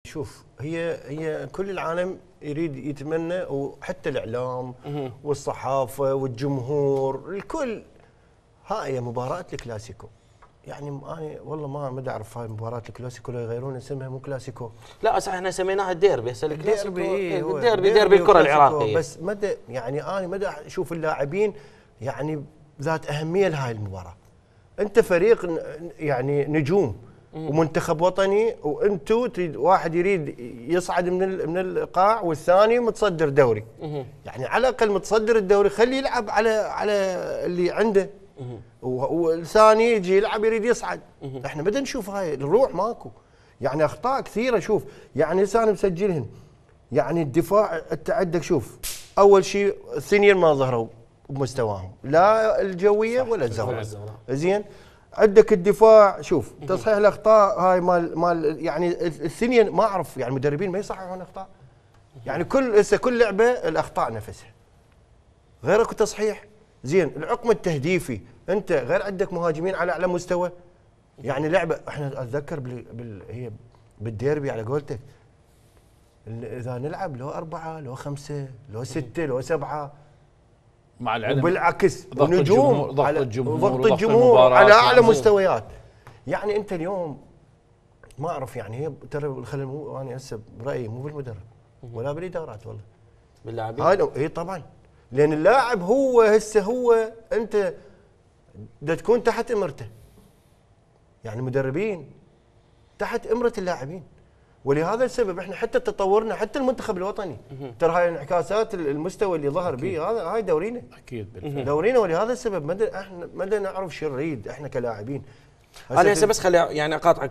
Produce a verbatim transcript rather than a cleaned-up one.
شوف، هي هي كل العالم يريد يتمنى، وحتى الاعلام والصحافه والجمهور الكل، هاي مباراه الكلاسيكو. يعني انا والله ما ما اعرف هاي مباراه الكلاسيكو ولا يغيرون اسمها، مو كلاسيكو. لا صح، احنا سميناها الديربي. هسه الكلاسيكو الديربي هو الديربي ديربي الكره العراقيه. بس مدى يعني انا مدى اشوف اللاعبين يعني ذات اهميه لهاي المباراه. انت فريق يعني نجوم ومنتخب وطني، وانتم تريد واحد يريد يصعد من من القاع والثاني متصدر دوري. يعني على الاقل متصدر الدوري خليه يلعب على على اللي عنده، والثاني يجي يلعب يريد يصعد. احنا بدنا نشوف هاي الروح ماكو. يعني اخطاء كثيره. شوف يعني هسه انا مسجلهن. يعني الدفاع انت عندك، شوف اول شيء الثنين ما ظهروا بمستواهم، لا الجويه ولا الزوراء. زين، عندك الدفاع، شوف تصحيح الاخطاء هاي مال مال يعني الثنين ما اعرف، يعني المدربين ما يصححون اخطاء. يعني كل هسه كل لعبه الاخطاء نفسها غير اكو تصحيح. زين، العقم التهديفي انت غير عندك مهاجمين على اعلى مستوى. يعني لعبه احنا اتذكر بال, بال هي بالديربي على قولتك، اذا نلعب لو اربعه لو خمسه لو سته لو سبعه مع العلم، وبالعكس ضغط الجمهور ضغط الجمهور ضغط الجمهور على اعلى مستويات. يعني انت اليوم ما اعرف، يعني هي ترى الخلل مو انا هسه برايي مو بالمدرب ولا بالادارات، والله باللاعبين. هاي اي طبعا، لان اللاعب هو هسه هو انت دا تكون تحت امرته. يعني المدربين تحت امره اللاعبين، ولهذا السبب احنا حتى تطورنا، حتى المنتخب الوطني ترى هاي انعكاسات المستوى اللي ظهر به، هذا هاي دورينا اكيد بالفعل دورينا. ولهذا السبب ما احنا ما نعرف شو نريد احنا كلاعبين. انا هسه بس خلي يعني اقاطعك